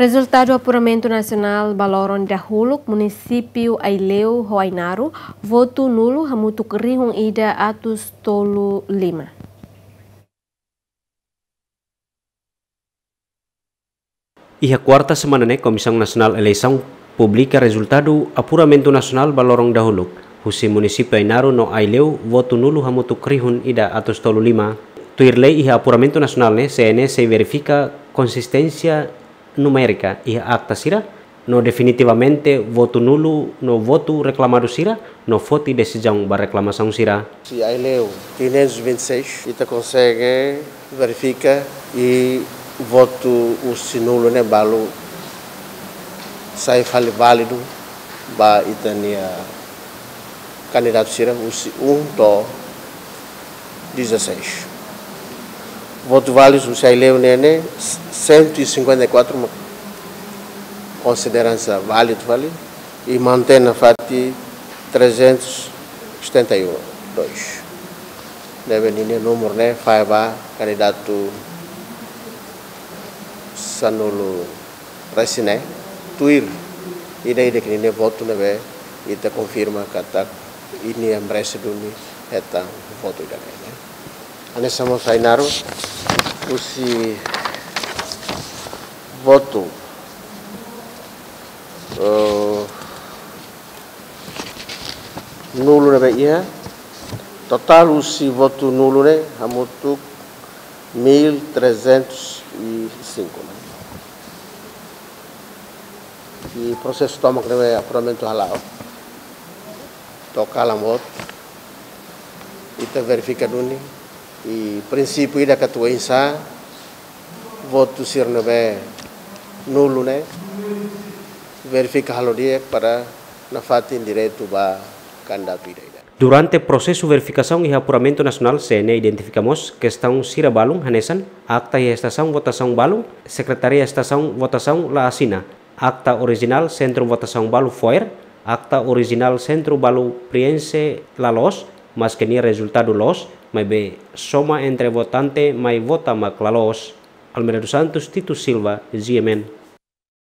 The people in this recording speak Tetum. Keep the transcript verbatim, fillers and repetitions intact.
Rezultadu apuramentu nasionál ba loron dahuluk, munisípiu Aileu ho Ainaro, votu nulu hamutuk rihun ida atus tolu lima. Iha kuarta semana ne'e, Komisaun Nasionál Eleisaun publika rezultadu apuramentu nasionál ba loron dahuluk. Husi munisípiu Ainaro no Aileu, votu nulu hamutuk rihun ida atus tolu lima. Tuir lei, iha apuramentu nasionál ne'e, C N E sei verifika konsisténsia numérika iha akta sira, no definitivamente votu nulu no votu reklamadu sira, no foti desizaun ba reklamasaun sira. Husi Aileu quinhentos e vinte e seis, ita konsege verifika i votu husi nulu ne'e balu sai fali válidu ba ita-nia kandidatu sira husi um to'o dezasseis. Votu válidu husi Aileu ne'e ne'e cento e cinquenta e quatro, mak konsidera hanesan válidu fali, i mantein nafatin trezentos e setenta e um, dois. Ne'ebé ninia númeru ne'e fai ba kandidatu sanulu-resin-neen, tuir ida-idak ninia votu ne'ebé ita konfirma katak nia merese duni hetan votu ida-ne'e, ne'e. Hanesan mós Ainaro, husi votu, eh, nulu ne'ebé iha, totál husi votu nulu ne'e hamutuk mil trezentos e cinco, ne'e. I prosesu tomak ne'ebé apuramentu hala'o to'o kalan boot, ita verifika duni, i prinsípiu ida katak oinsá votu sira ne'ebé nulu ne'e, verifika halo di'ak para nafatin direitu ba kandidatu ida-idak. Durante prosesu verifikasaun iha apuramentu nasionál, C N E identifika mós kestaun sira balun hanesan akta iha estasaun votasaun balun, sekretaria estasaun votasaun la asina, akta orijinál sentru votasaun balu fo'er, akta orijinál sentru balu prienxe la loos, maske nia rezultadu loos, maibé soma entre votante mai vota mak la loos. Almeida dos Santos, Tito Silva, G M N.